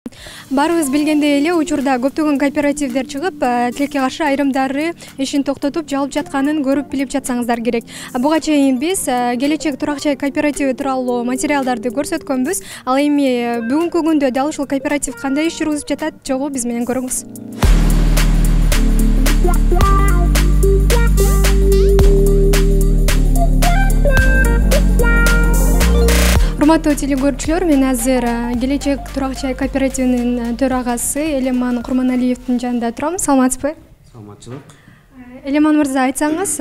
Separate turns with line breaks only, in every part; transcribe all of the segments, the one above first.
Баарыбыз билгендей эле учурда көптөгөн кооперативдер чыгып, тилекке каршы айрымдары ишин токтотуп жабылып жатканын көрүп билип жатсаңыздар керек. Буга чейин биз келечек турак жай кооперативи тууралуу материалдарды көрсөткөнбүз. Ал эми бүгүнкү күндө дал ушул кооператив кандай иш жүргүзүп жатат, жогу биз менен көрүңүз. Урматтуу телекөрүүчүлөр, мен азыр Келечек турак жай кооперативинин төрагасы Элеман Курманалиевдин жанында турам. Саламатсызбы?
Саламатчылык.
Элеман мырза, айтсаңыз,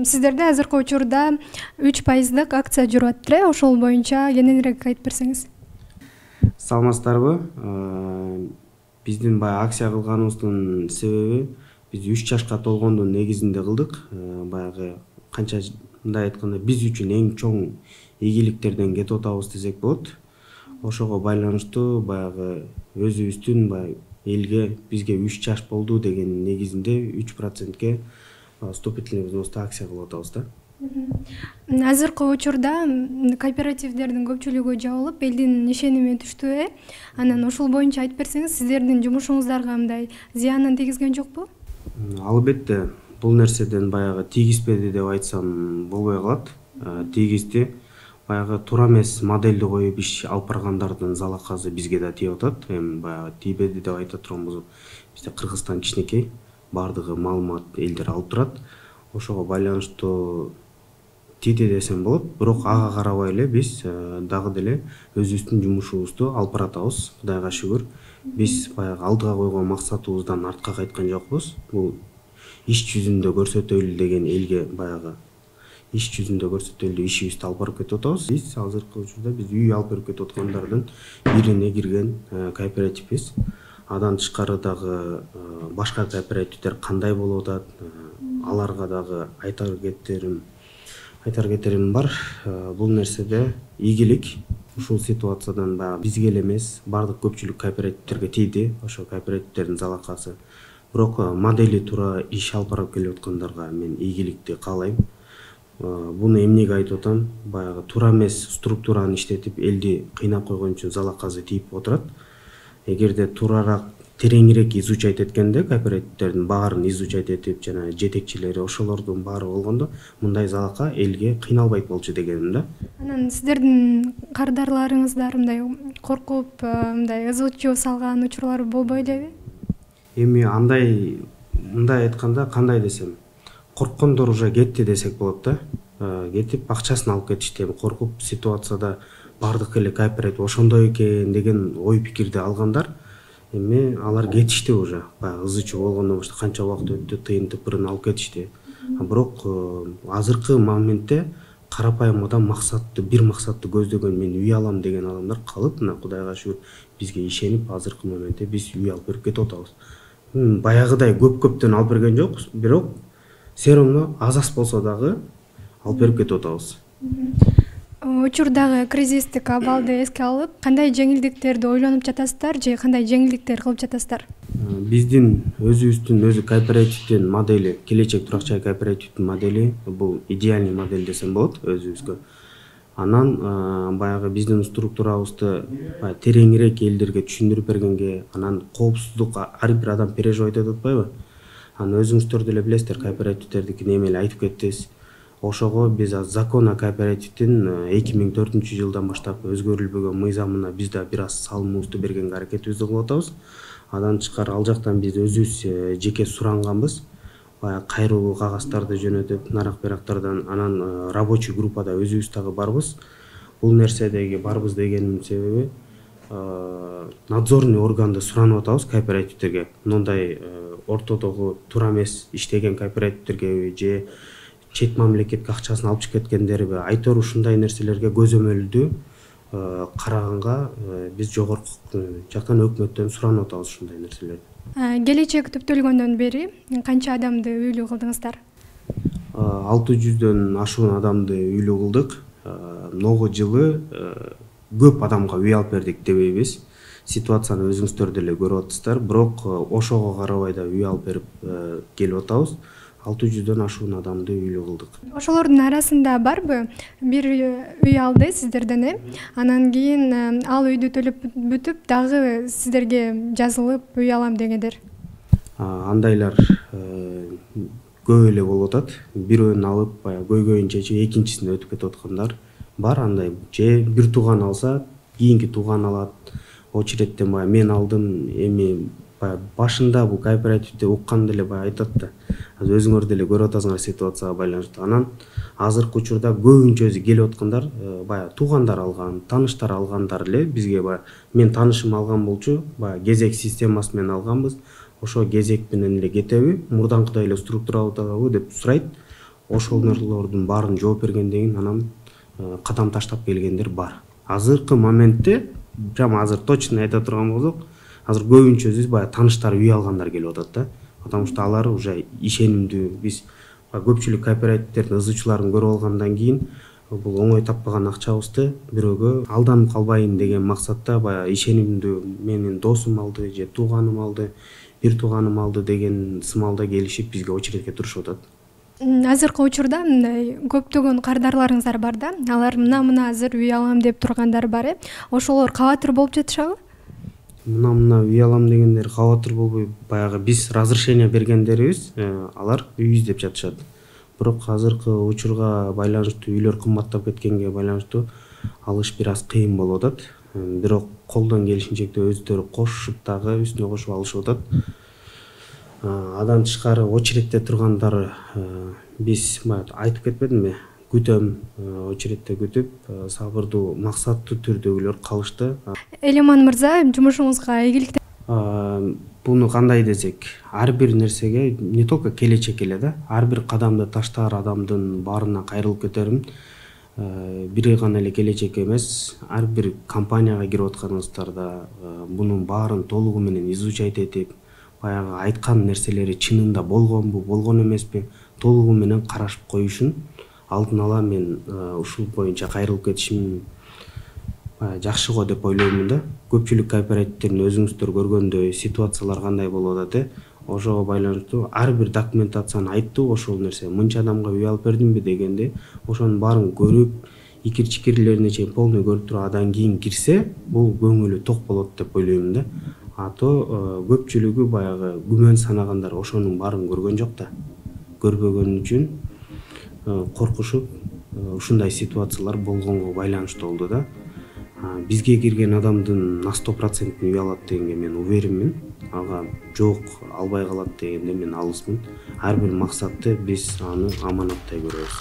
сиздерде азыркы учурда 3% акция жүрүп атат. Ошол боюнча кененирээк айтып берсеңиз.
Саламатсыздарбы? Биздин баягы акция кылганыбыздын себеби биз 3 жашка толгондун негизинде кылдык. Баягы канча мындай айтканда биз үчүн эң чоң ийгиликтерден кетип атабыз десек болот. Ошого байланыштуу баягы өзүбүздүн баягы элге бизге 3 жаш болду деген негизинде 3%ке вступительный взноста акция кылып атабыз да.
Азыркы учурда кооперативдердин көпчүлүгү жабылып, элдин ишеними түштү. Анан ошол боюнча айтып берсеңиз, сиздердин жумушуңуздарга мындай зыянын тийгизген жокпу?
Албетте, бул нерседен баягы тийгизбеди деп айтсам болбой калат. Тийгизди. Баягы туура эмес модельди коюп иш алып баргандардын залакасы бизге да тийип атат. Эми баягы тийбеди деп айта турганбыз. Бизде Кыргызстан кичинекей, баардыгы маалымат элдер алып турат. Ошого байланыштуу тийди десем болот. Бирок ага карабай эле биз дагы деле өзүбүздүн жумушубузду алып баратабыз. Кудайга шүгүр. Биз баягы алдыга койгон максатыбыздан артка кайткан жокпуз. Бул иш жүзүндө көрсөтөлү деген элге баягы иш жүзүндө көрсөтөлү ишибизди алып барып кетип атабыз. Биз азыркы учурда биз үй алып берип кетип аткандардын бирине кирген кооперативбиз. Андан тышкары дагы башка кооперативдер кандай болуп атат, аларга дагы айтар кетерим бар. Бул нерседе ийгилик ушул ситуациядан баягы бизге эле эмес, бардык көпчүлүк кооперативдерге тийди. Ошо кооперативдердин залакасы. Бирок модели туура иш алып барып келип аткандарга мен ийгиликти каалайм. Буну эмнеге айтып атам? Баягы туура эмес структураны иштетип элди кыйнап койгон үчүн залакасы тийип отурат. Эгерде туураараак, тереңирээк изучать эткенде, кооперативдердин баарын изучать этип, жана жетекчилери ошолордун баары болгондо мындай залака элге кыйналбайт болчу дегеним да.
Анан сиздердин кардарларыңыздар мындай коркуп, мындай ызы-чуу салган учурлар болбой элеби?
Эми мындай айтканда кандай десем, корккондор уже кетти десек болот да. Кетип акчасын алып кетишти. Эми коркуп ситуацияда бардык эле кооператив ошондой экен деген ой пикирди алгандар эми алар кетишти уже. Баягы ызы-чуу болгондон баштап канча убакыт өттү, тыйын тыпырын алып кетишти. Бирок азыркы моментте карапайым адам бир максатты көздөгөн, мен үй алам деген адамдар калып, мына Кудайга шүгүр бизге ишенип азыркы моментте биз үй алып берип кетип атабыз. Баягыдай көптөн алып берген жокпуз, бирок все равно аз болсо дагы алып берип кетип атабыз.
Учурдагы кризистик абалды эске алып, кандай жеңилдиктерди ойлонуп жатасыздар же кандай жеңилдиктер кылып жатасыздар?
Биздин өзү кооперативдин модели, Келечек турак жай кооперативдин модели бул идеальный модель десем болот өзүбүзгө. Анан баягы биздин структурабызды тереңирээк элдерге түшүндүрүп бергенге, анан коопсуздук ар бир адам переживать этип атпайбы? Анан өзүңүздөр деле билесиздер, кооперативдердикин эми айтып кеттиз. Ошого биз закон о кооперативдин 2004-жылдан баштап өзгөрүлбөгөн мыйзамына биз да бир аз салымыбызды бергенге аракетибизди кылып атабыз. Андан тышкары ал жактан биз өзүбүз жеке суранганбыз. Баягы кайрылуу кагазтарды жөнөтүп, нарак-берактардан, анан рабочий группада өзүбүз дагы барбыз. Бул нерседеги барбыз дегенин себеби надзорный органды суранып атабыз кооперативдерге. Мындай ортодогу туура эмес иштеген кооперативдерге же чет мамлекетке акчасын алып чыгып кеткендерби, айтор ушундай нерселерге көзөмөлдүү караганга биз жогорку жактан өкмөттөн суранып атабыз ушундай нерселерди.
Келечек түптөлгөндөн бери канча адамды үйлүү кылдыңыздар?
600дөн ашуун адамды үйлүү кылдык. Многу жылы көп адамга үй алып бердик дебейбиз. Ситуацияны өзүңүздөр деле көрүп атасыздар, бирок ошого карабай да үй алып берип келип атабыз. 600дөн ашуун адамды үйлүү кылдык.
Ошолордун арасында барбы бир үй алды сиздерден, анан кийин ал үйдү төлөп бүтүп дагы сиздерге жазылып үй алам дегендер?
Андайлар көп эле болуп атат. Бирөөнү алып баягы көйгөйүн чечип экинчисине өтүп кетип аткандар бар. Андай же бир тууган алса, кийинки тууган алат. Очереттен баягы мен алдым, эми баягы башында бул кооперативди укканда эле баягы айтат да. Азыр өзүңөр деле көрүп атасыңар ситуацияга байланыштуу. Анан азыркы учурда көбүнчөсү келип аткандар баягы туугандар алган, тааныштар алгандар эле бизге баягы мен таанышым алган болчу, баягы кезек системасы менен алганбыз. Ошо кезек менен эле кетеби, мурдаңкыдай эле структуралабы деп сурайт. Ошолордун баарын жооп бергенден кийин анан кадам таштап келгендер бар. Азыркы моментте, прямо азыр точно айта турган болсок, азыр көбүнчөсү баягы тааныштар үй алгандар келип атат да. Потому что алар уже ишенимдүү. Биз көпчүлүк кооперативдердин ызычууларын көрүп алгандан кийин бул оңой таппаган акчабызды бирөөгө алданып калбайын деген максатта баягы ишенимдүү менин досум алды же тууганым алды, бир тууганым алды деген сымалда келишип бизге очередке турушуп атат.
Азыркы учурда мындай көптөгөн кардарларыңыздар бар да. Алар мына азыр үй алам деп тургандар бар. Ошолор кабатыр болуп жатышабы?
Мына үй алам дегендер кабатыр болбой, баягы биз разрешение бергендерибиз, алар үй издеп жатышат. Бирок азыркы учурга байланыштуу үйлөр кымбаттап кеткенге байланыштуу алыш бир аз кыйын болуп атат. Бирок колдон келишинче өздөрү кошушуп дагы үстүнө кошуп алышып атат. Адан тышкары очередте тургандар биз айтып кетпедимби? Күтөм, очередте күтүп, сабырдуу, максаттуу түрдөгүлөр калышты.
Элеман мырза, жумушуңузга ийгилик.
Буну кандай десек, ар бир нерсеге не только келечек эле да, ар бир кадамды таштаар адамдын баарына кайрылып кетерим. Бири гана эле келечек эмес, ар бир компанияга кирип атканыңыздарда бунун баарын толугу менен изучать этип, баягы айткан нерселери чынында болгонбу, болгон эмеспи, толугу менен карашып коюшун алдын ала мен ушул боюнча кайрылып кетишим жакшы го деп ойлоймун да. Көпчүлүк кооперативдердин өзүңүздөр көргөндөй ситуациялар кандай болуп атат, ошого байланыштуу ар бир документацияны айттуу, ошол нерсе мынча адамга үй алып бердимби дегенде, ошонун баарын көрүп, икир-чикирлерине чейин полный көрүп туруп адан кийин кирсе, бул көңүлү ток болот деп ойлоймун да. То көпчүлүгү баягы күмөн санагандар ошонун баарын көргөн жок да. Көрбөгөн үчүн коркушуп ушундай ситуациялар болгонго байланыштуу болду да. Бизге кирген адамдын на 100% үй алат дегенге мен уверенмин. Ага жок, албай калат дегенде мен алысмын. Ар бир максатты биз аны аманаттай көрөбүз.